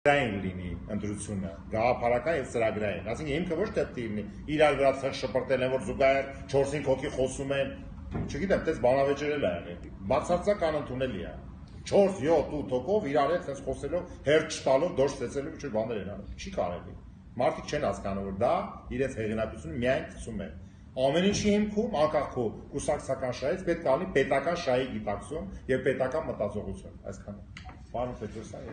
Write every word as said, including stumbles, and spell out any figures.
տեքստային լինի ընտրությունը, գաղափարական եւ ծրագրային, ասենք հիմքը ոչ թե լինի իրար վրա շպրտել են, որ զուգահեռ չորս-հինգ հոգի խոսում են, չգիտեմ, այդպես բանավեճերել է եղել, բացարձակ անընդունելի է, չորս յոթ ութ հոգով իրար հետ sense խոսելով, հերթ չտալով, դոշ ծեծելով ինչ-որ բաներ են անում, չի կարելի, մարդիկ չեն հասկանում, որ դա իրենց հեղինակությունը միայն գցում է, ամեն ինչի հիմքում, անկախ քո կուսակցական շահից պետք է լինի պետական շահի գիտակցում եւ պետական մտածողություն, այսքանը։ Պարոն Պետրոսյան,